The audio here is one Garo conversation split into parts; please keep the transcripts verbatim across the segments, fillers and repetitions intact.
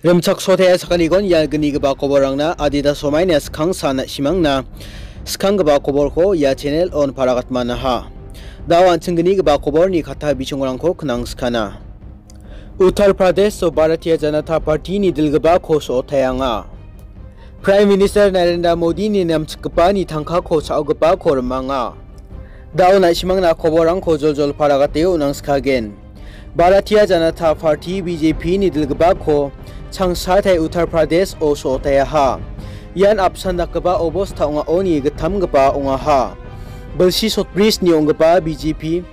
Rimchaksoa sakantikon ia gnigipa koborrangna adita somaina skangsa na·simangna skanggipa koborko ia channel-on paragatmanaha. Da·o an·ching gnigipa koborni katta bichongrangko knangskana. Uttar Pradesh-o Bharatiya Janata Party-ni dilgipako so·otaenga. Prime Minister Narendra Modi-ni namchikgipani tangkako cha·ogipako rimanga. Da·o na·simangna koborrangko joljol paragateo nangskagen. Bharatiya Janata Party, B J P-ni dilgipako changsatai Uttar Pradesh-o so·otaeaha. Ian apsan dakgipa obosta ong·aoni gittamgipa ong·aha. Bilsi sotbrisni ong·gipa B J P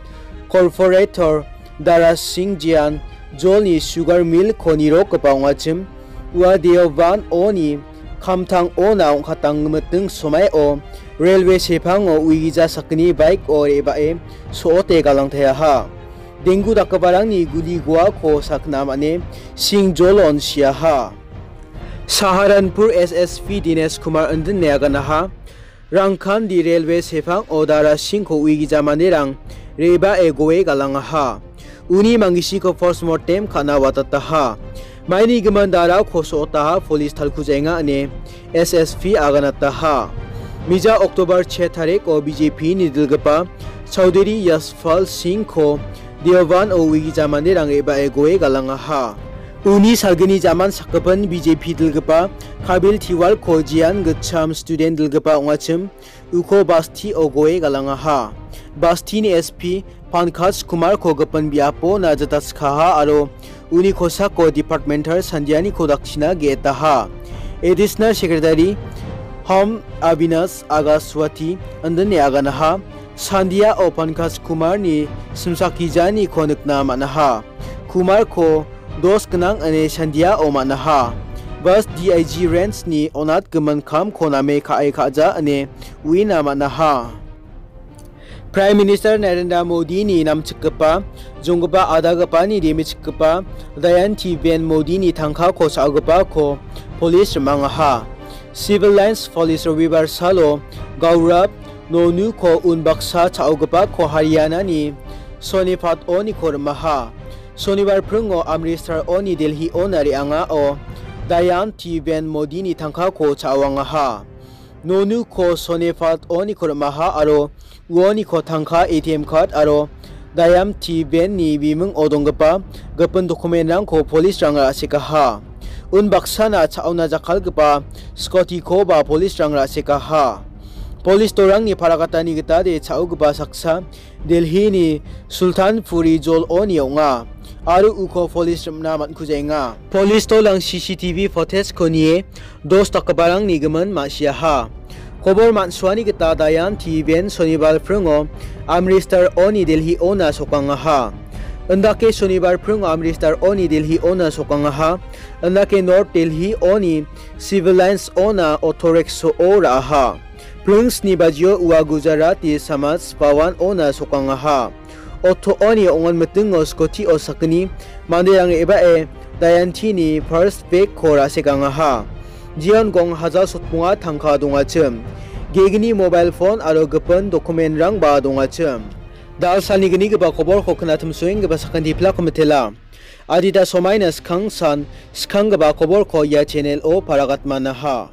corporator Dara Singh Jian Jolni sugar mill-ko nirokgipa ong·achim, ua Deoban-oni kamtang-ona ong·katangmiting somaio railway sepango uigija sakgni bike-o re·bae so·ote galangtaeaha. Denggu dakgiparangni guli goako sakna man·e Singh Jolon siaha. Saharanpur S S P Dinesh Kumar indine aganaha. Rangkandi railway sepango Dara Singh-ko uigija manderang re·bae goe galangaha. Uni mangisiko postmortem ka·na watataha. Maini gimin Darako so·otaha, police talkujaenga ine S S P aganataha. Mija October se tariko B J P-ni dilgipa Chaudhary Yashpal Singh-ko Deoban-o uigija manderang re·bae goe galangaha. Uni salgini jaman sakgipin B J P dilgipa Kapil Tiwal-ko Jian gitcham student dilgipa ong·achim, uko Basti-o goe galangaha. Basti-ni S P Pankaj Kumar-ko gipin biapona jataskaha aro uni kosako departmental Sandianiko dakchina ge·etaha. Additional Secretary Home Avinash Agaswati indine aganaha. Sandiao Pankaj Kumarni simsakijaniko nikna man·aha. Kumarko dos gnang ine Sandiao man·aha. Bas D I G Range-ni onatgimin kamko name ka·e ka·ja ine uina man·aha. Prime Minister Narendra Modi-ni namchikgipa, jonggipa adagipani demichikgipa Dayan T Ben Modi-ni tangkako cha·ogipako police rimangaha. Civil Lines Police Robibar salo Gaurav Nonuko unbaksa cha·ogipako Haryana-ni Sonipat-oniko rimaha. Sonibar pringo Amritsar-oni Delhi-ona re·angao Dayan T Ben Modi-ni tangkako cha·oangaha. Nonuko Sonipat-oniko rimaha aro uoniko tangka, A T M card aro Dayan T Ben-ni bimingo donggipa gipin dokumentrangko police-rang ra·sekaha. Unbaksana cha·ona jakkalgipa scooty-koba police-rang ra·sekaha. Police dolrangni paragatani gitade cha·ogipa saksa Delhi-ni Sultanpuri Jol-oni ong·a, aro uko police rimna man·kujaenga. Police dolrang C C T V footage-ko nie dos dakgiparangni gimin ma·siaha. Kobor man·suani gita Dayan T Ben Sonibar pringo Amritsar-oni Delhi-ona sokangaha. Indake Sonibar pringo Amritsar-oni Delhi-ona sokangaha. Indake North Delhi-oni Civil Lines-ona auto rickshaw-o ra·aha. Pring sni bajio ua Gujarati Samaj Bhavan-ona sokangaha. Auto-oni ong·on mitingo scooty-o sakgni manderang re·bae Dayan T-ni purse bag-ko ra·sekangaha. Jeon gong hajal sotmonga tangka dongachim. Gegni mobile phone aro gipin dokumentrangba dongachim. Dal salni gnigipa koborko knatimsoenggipa sakanti plako mitela. Adita somaina skangsan skanggipa koborko ia channel-o paragatmanaha.